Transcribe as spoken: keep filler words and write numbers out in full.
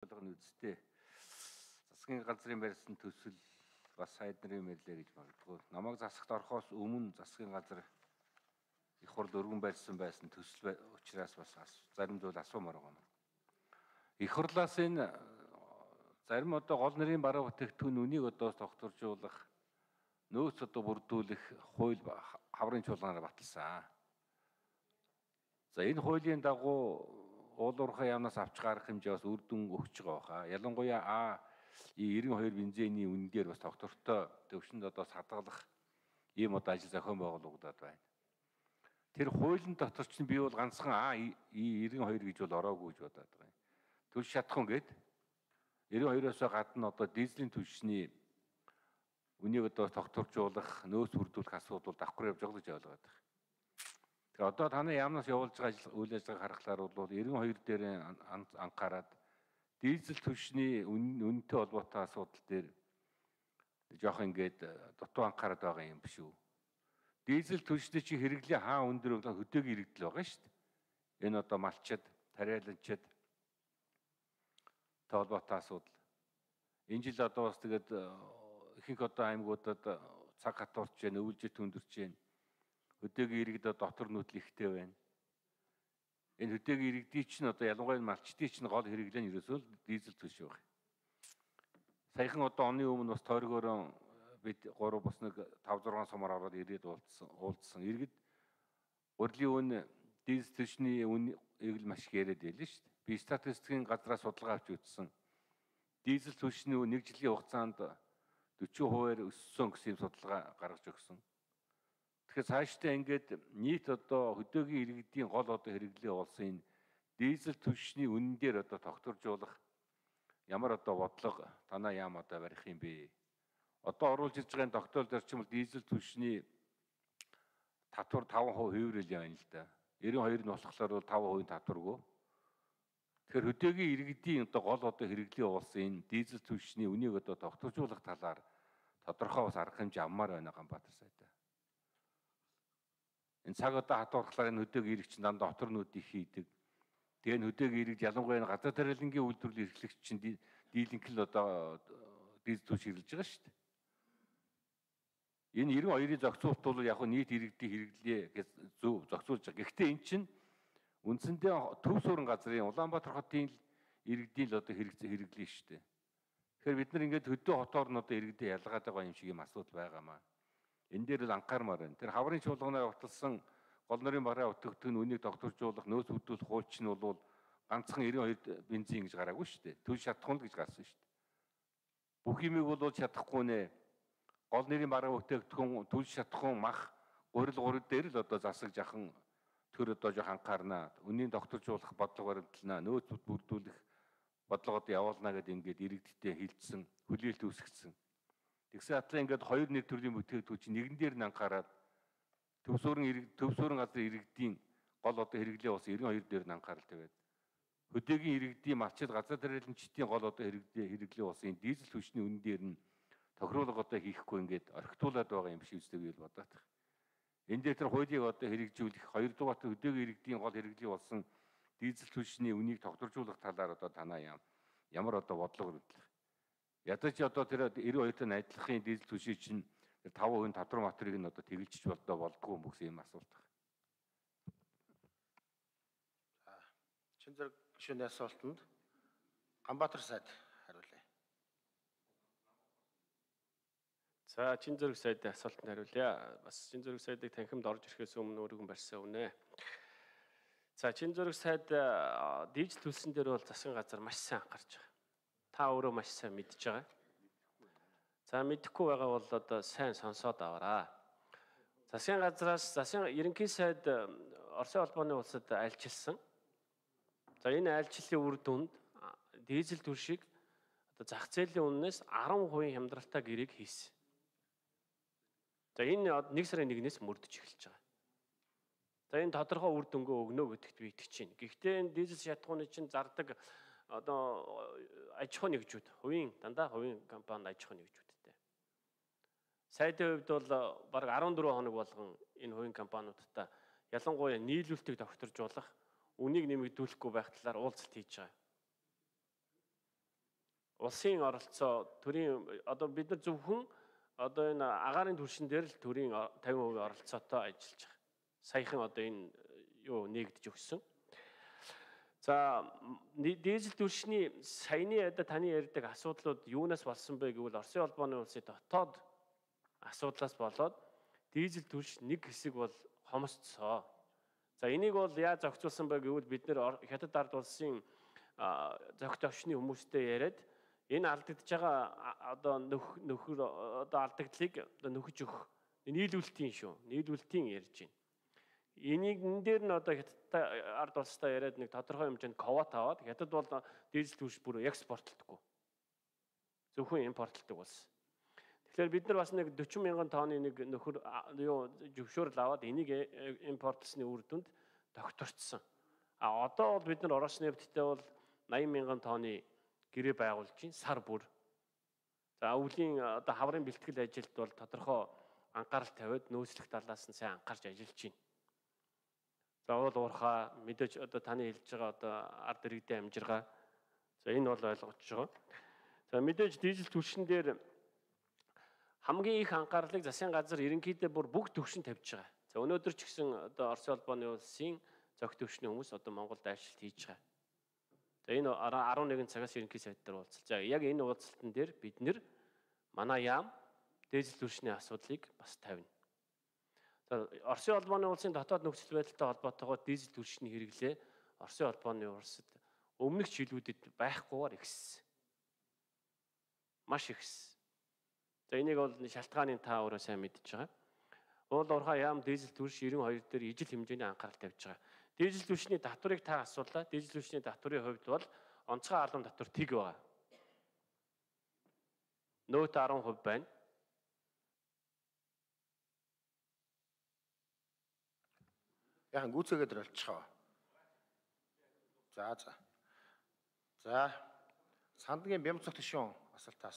болгоно үсттэй. Засгийн газрын барьсан төсөл бас сайд нарын мэрлээ гэж магадгүй. Намайг засагт орохоос өмнө засгийн газар их хурд өргөн барьсан байсан төсөл учраас бас зарим зүйл асуумаар байна. Их хурлаас энэ зарим одоо гол нарын бараа бүтээгдэхүүн үнийг одоо тогтворжуулах, нөөц одоо бүрдүүлэх хууль хаврын чуулганаар баталсан. За энэ хуулийн дагуу уулуурхай яамнаас авч гарах хэмжээ бас үр дүн өгч байгаа хаа. Ялангуяа А девяносто two бензиний үнэн дээр бас тогтвортой төвшөнд одоо садгалах ийм одоо ажил зохион байгуулагдаад байна. Тэр хуулийн дотор чинь би бол ганцхан А девяносто two гэж бол ороогүй гэж бодоод байгаа юм. Түлш шатхан гээд девяносто two-оос гадна одоо дизелийн түлшний үнийг одоо тогтворжуулах, нөөц бүрдүүлэх асуудал давхар явж байгаа гэж ойлгоод байна. Тэгэхээр одоо таны яамнаас явуулж байгаа ажил үйл ажиллагааг харахаар бол девяносто two дээр анхаарад дизель түвшний үнэтэй холбоотой асуудал дээр жоох ингээд дутуу анхаарад байгаа юм биш үү? Дизель түвшний чи хэрэглээ хаа өндөр хөдөөгийн иргэдэл байгаа шүү дээ. Энэ одоо малчид, тариаланчид толботой асуудал. Энэ жил одоо бас тэгээд ихэнх одоо аймагуудад цаг хатуурч байна, өвөлжит өндөрч байна. Хөдөөгийн иргэд дотор нүүдэл ихтэй байна. Энэ хөдөөгийн иргэдийн чинь одоо ялангуяа малчдын чинь гол хэрэглээ нь ерөөсөө дизель түвш байгаа. Саяхан одоо оны өмнө бас тойргоороо бид гурав бас нэг five six сумаар ороод ирээд уулзсан. уулзсан. Иргэд урлагийн үн дизель түвшний үнийг л маш их яриад байлаа шүү дээ. Би статистикийн газраас судалгаа авч үзсэн. Дизель түвшний үн нэг жилийн хугацаанд forty percent өссөн гэсэн судалгаа гаргаж өгсөн. Тэгэхээр цаашдаа ингээд нийт одоо хөдөөгийн иргэдийн гол одоо хэрэглээ болсон энэ дизель түвшний үнэн дээр одоо тогтворжуулах ямар одоо бодлого танаа яам одоо барих юм бэ? Одоо оруулж ирж байгаа тогтоол зарчим бол дизель түвшний татвар five percent хувирэл явна л да. ninety-two нь болохоор бол five percent татваргүй. Тэгэхээр хөдөөгийн иргэдийн одоо гол одоо хэрэглээ болсон энэ дизель түвшний үнийг одоо тогтворжуулах талаар тодорхой бас арга хэмжээ авмаар байна Ганбаатар сайдаа. Энэ цаг одоо хатуурхлаар энэ хөдөөгийн иргэд чинь дандаа отор нүүдийг хийдэг. Тэгээ энэ хөдөөгийн иргэд ялангуяа газар тариалангийн үйлдвэрлэлийн эрхлэгч чинь дийлэнх л одоо дизель түвш хэрэглэж байгаа шүү дээ. Энэ ninety-two-ийн зохицуулт бол яг нийт иргэдийн хэрэглээ гэж зөв зохицуулж байгаа. Гэхдээ эн чинь үндсэндээ төв суурин газрын Улаанбаатар хотын иргэдийн л одоо хэрэглээ шүү дээ. Тэгэхээр бид нар ингээд хөдөө хотоор нь одоо иргэдэд ялгаад байгаа юм шиг юм асуудал байгаамаа. Энэ дээр л анхаармаар байна. Тэр хаврын чуулганаар баталсан гол нарын бараа бүтээгдэхүүн үнийг тогтворжуулах, нөөц бүрдүүлэх хууль чинь бол ганцхан ninety-two бензин гэж гараагүй шүү дээ. Түл шатахгүй л гэж гарсан шүү дээ. Бүх юмыг бол чадахгүй нэ. Гол нарын бараа бүтээгдэхүүн, түл шатахгүй мах, гурил гурил дээр л одоо засаг жахан төр одоо жоох анхаарнаа. Үнийн тогтворжуулах бодлого баримтлана, нөөц бүрдүүлэх бодлого одоо явуулна гэдээ ингээд иргэдтэй хилцсэн, хүлээлт үүсгэсэн. Тэгсэн атлаа ингээд хоёр нэг төрлийн бүтээгдэхүүн чинь нэгэн дээр нь анхаарал төв суурин иргэд төв суурин газрын иргэдийн гол одоо хэрэглээ болсон ninety-two дээр нь анхаарал тавиад хөдөөгийн иргэдийн малчид газар тариаланчдын гол одоо хэрэглээ хэрэглээ болсон энэ дизель түвшний үнэн дээр нь тохируулга одоо хийхгүй ингээд орхитуулаад байгаа юм шиг үстэйг л бодоод. Энэ дээр тэр хуулийг одоо хэрэгжүүлэх хоёрдугаар хөдөөгийн иргэдийн гол хэрэглээ болсон дизель түвшний үнийг тогтворжуулах талаар одоо танаа яам ямар одоо бодлого өргөдлөх. Ядаж одоо тэр ninety-two-тай найдлахын дизель түвшин чинь five percent татвар материйг нь одоо тэгэлжиж болдоо болдгоо юм гэсэн юм асуулт байна. За, чин зэрэг гишүүний асуултанд Ганбаатар сайд хариулъя. За, чин зэрэг сайдын асуултанд хариулъя. Бас чин зэрэг сайдыг танхимд орж ирэхээс өмнө өргөн барьсан үнэ. За, чин зэрэг сайд дизель түвшин дээр бол засгийн газар маш сайн анхаарч байгаа. Та өөрөө маш сайн мэдж байгаа. За мэдэхгүй байгаа бол одоо сайн сонсоод аваарай. Засгийн газраас засгийн ерөнхий сайд Оросын холбооны улсад айлчилсан. За энэ айлчлалын үр дүнд дизель түвшийг одоо зах зээлийн үннээс ten percent хямдралтай гэрээг хийсэн. За энэ нэг сарын нэгнээс мөрдөж эхэлж байгаа. За энэ тодорхой үр дүнгээ өгнө гэдэгт би итгэж байна. Гэхдээ энэ дизель шатхууны чинь зардаг одоо аж ахуй нэгжүүд, хувийн дандаа хувийн компани аж ахуй нэгжүүдтэй. Сайдын хувьд бол бараг fourteen хоног болгон энэ хувийн компаниудтай ялангуяа нийлүүлэлтийг тогтворжуулах, үнийг нэмэгдүүлэхгүй байх талаар уулзалт хийж байгаа. улсын оролцоо төрийн одоо бид нар зөвхөн одоо энэ агаарын түвшин дээр л төрийн тавин хувийн оролцоотой ажиллаж байгаа. Саяхан одоо энэ юу нэгдэж өгсөн. За дизель түвшний саяны одоо таны ярьдаг асуудлууд юунаас болсон бэ гэвэл Оросын холбооны улсын дотоод асуудлаас болоод дизель түвш нэг хэсэг бол хомсцсоо. За энийг бол яаж зохицуулсан бэ гэвэл бид нэр Хятад ард улсын зохиц овчны хүмүүстэй яриад энэ алдагдж байгаа одоо нөхөр одоо алдагдлыг одоо нөхөж өгөх нийлүүлэлтийн шүү. Нийлүүлэлтийн ярьж байна. Энийг энэ дээр нь одоо Хятад ард улстай яриад нэг тодорхой хэмжээнд квота аваад Хятад бол дизель түвш бүр экспортлдаггүй. Зөвхөн импортлдог улс. Тэгэхээр бид нар бас нэг forty мянган тонны нэг нөхөр юу зөвшөөрөл аваад энийг импортлсны үр дүнд докторцсон. А одоо бол бид нар Ороос нефттэй бол eighty мянган тонны гэрээ байгуулж чинь сар бүр. За өвлийн одоо хаврын бэлтгэл ажилд бол тодорхой анхаарал тавиад нөөцлөх талаас нь сайн анхаарч ажиллаж байна. За уул уурхаа мэдээж одоо таны хэлж байгаа одоо ард иргэдийн амжиргаа. За энэ бол ойлгож байгаа. За мэдээж дизель түвшин дээр хамгийн их анхаарлыг засгийн газар ерөнхийдөө бүр бүгд төвшин тавьж байгаа. За өнөөдөр ч гэсэн одоо Оросын холбооны улсын зохиц төвшний хүмүүс одоо Монголд ажилт хийж байгаа. За энэ eleven цагаас ерөнхий сайд дээр уулзалт. За яг энэ уулзалтан дээр бид нэр манай яам дизель түвшний асуудлыг бас тавина. За Оросын холбооны улсын дотоод нөхцөл байдалтай холбоотойгоор дизель түвшний хэрэглээ Оросын холбооны улсад өмнөх жилүүдэд байхгүйгээр ихссэн. Маш ихссэн. За энийг бол шалтгааныг та өөрөө сайн мэдж байгаа. Уул уурхай яам дизель түвш ninety-two дээр ижил хэмжээний анхаарал тавьж байгаа. Дизель түвшний татварыг та асуулаа. Дизель түвшний татварын хувьд бол онцгой албан татвар тэг байгаа. Нөөт ten percent байна. Яхан гүйцээгээд болчихоо. За за. За Сандгийн Бямцах төшөө асуултаас